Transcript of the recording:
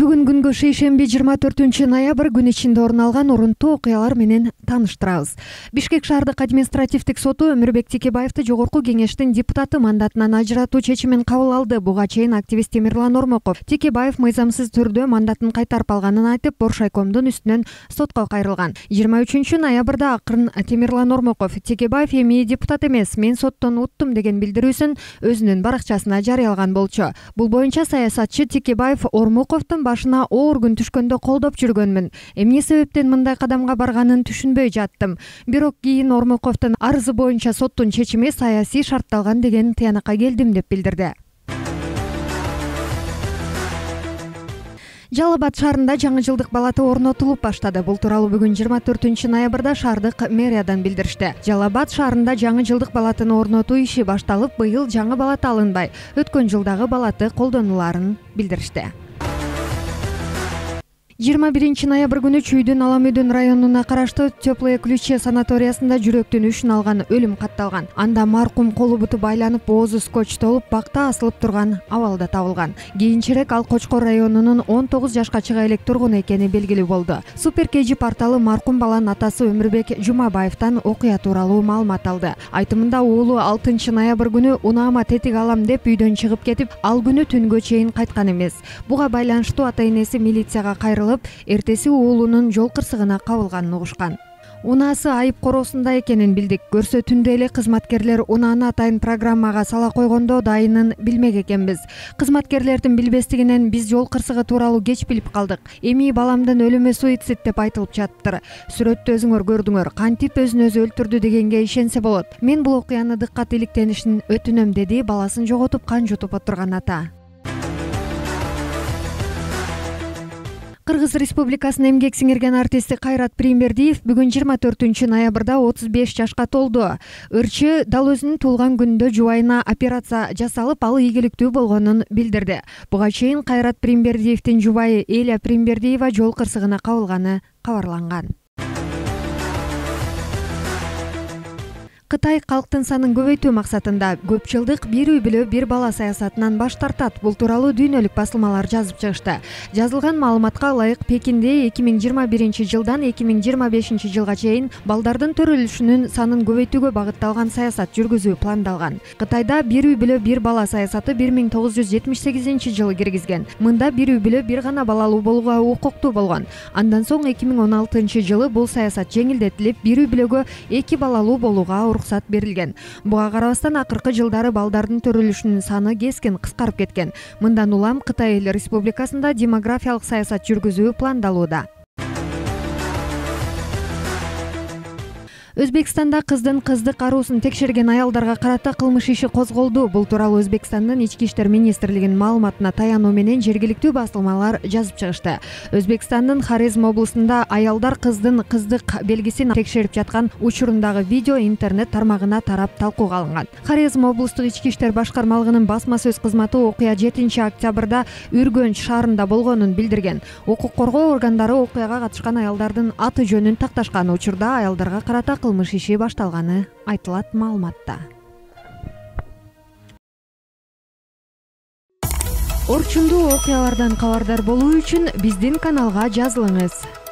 Бүгүн күнгө шейшемби 24-ноябрь күн ичинде орун алган урунтуу окуялар менен тааныштырабыз. Бишкек шаардык административдик соту Өмүрбек Текебаевди жогорку кеңештин депутаты мандатынан ажыратуу чечимин кабыл алды. Буга чейин активист Темирлан Ормоков Текебаев мыйзамсыз түрдө мандатын кайтарып алганын айтып, Боршайкомдун үстүнөн сотко кайрылган. 23-ноябрда акырын Темирлан Ормоков Текебаев эми депутат эмес, мен соттон уттум деген билдирүүсүн өзүнүн баракчасына жарыялаган болчу. Бул боюнча саясатчы Текебаев Ормоковдун башына оор күн түшкөндө колдоп жүргөнмүн. Эмне себептен мындай кадамга барганын түшүнбөй жаттым. Бирок кийин Ормоковдун арызы боюнча соттун чечими саясий шартталган деген тыянакка келдим деп билдирди. Жалал Абад шаарында жаңы жылдык балаты орнотулуп баштады. Бул тууралуу бүгүн 24-ноябрда шаардык мэриядан билдиришти. Жалал Абад шаарында жаңы жылдык балатын орнотуу иши башталып, быйыл жаңы балат алынбай, өткөн жылдагы балаты колдонуларын билдиришти. 21-ноябрь күнү Чүйдүн Аламөдөн районуна караштуу Теплые ключи санаториясында жүрөктүн үшүн алган өлүм катталган. Анда маркум колу буту байланып, оозу скотчтолуп, бакта асылып турган абалда табылган. Кийинчерээк ал Кочкор районунун 19 жашка чыга элек тургуну экени белгилүү болду. Супер KG порталы маркум баланын атасы Өмүрбек Жумабаевтан окуя тууралуу маалымат алды. Айтымында уулу 6-ноябрь күнү унаама тетик алам деп үйдөн чыгып кетип, ал күнү түнгө чейин кайткан эмес. Буга байланыштуу ата-энеси милицияга кайрылып, эртеси уулунун жол кырсыгына кабылганын угушкан. Унаасы айып короосунда экенин билдик. Көрсөтүндө эле кызматкерлер унааны атайын программага сала койгондо дайынын билмек экенбиз. Кызматкерлердин билбестигинен биз жол кырсыгы тууралуу кеч билип калдык. Эми баламдын өлүмү суицид деп айтылып жатыптыр. Сүрөттү өзүңөр көрдүңөр. Кантип өзүн өзү өлтүрдү дегенге ишенсе болот. Мен бул окуяны дыккат иликтенишин өтүнөм, деди баласын жоготуп кан жутуп отурган ата. Кыргыз Республикасынын эмгек сиңирген артисти Кайрат Примбердиев бүгүн 24-ноябрда 35 жашка толду. Ырчы дал өзүнүн туулган күнүндө жубайына операция жасалып, ал ийгиликтүү болгонун билдирди. Буга чейин Кайрат Примбердиевдин жубайы Эля Примбердиева жол кырсыгына кабылганы кабарланган. Кытай калктын санын көбөйтүү максатында көп жылдык бир үй бүлө бир бала саясатынан баш тартат. Бул тууралуу дүйнөлүк басылмалар жазып чыгышты. Жазылган маалыматка ылайык, Пекинде 2021 жылдан 2025 жылга чейин балдардын төрөлүшүнүн санын көбөйтүүгө багытталган саясат жүргүзүү пландалган. Кытайда бир үй бүлө бир бала саясаты 1978 жылы киргизген. Мында бир үй бүлө бир гана балалуу болууга укуктуу болгон. Андан соң 2016 жылы бул саясат жеңилдетилип, бир үй бүлөгө 2 балалуу болууга уруксат берилген. Буга карабастан акыркы жылдары балдардын төрөлүшүнүн саны кескин кыскарып кеткен. Мындан улам Кытай Эл Республикасында демографиялык саясат жүргүзүү пландалууда. Өзбекстанда кыздын кыздык аруусун текшерген аялдарга карата кылмыш иши козголду. Бул тууралуу Өзбекстандын Ички иштер министрлигинин маалыматына таянуу менен жергиликтүү басылмалар жазып чыгышты. Өзбекстандын Хорезм облусунда аялдар кыздын кыздык белгисин текшерип жаткан учурундагы видео интернет тармагына тарап талкууга алынган. Хорезм облустук Ички иштер башкармалыгынын басма сөз кызматы окуя 7-октябрда Үргөнч шаарында болгонун билдирген. Укук коргоо органдары окуяга катышкан аялдардын аты жөнүн такташкан. Учурда аялдарга карата кылмыш иши башталганы айтылат маалыматта. Орчундуу окуялардан кабардар болуу үчүн биздин каналга жазылыңыз.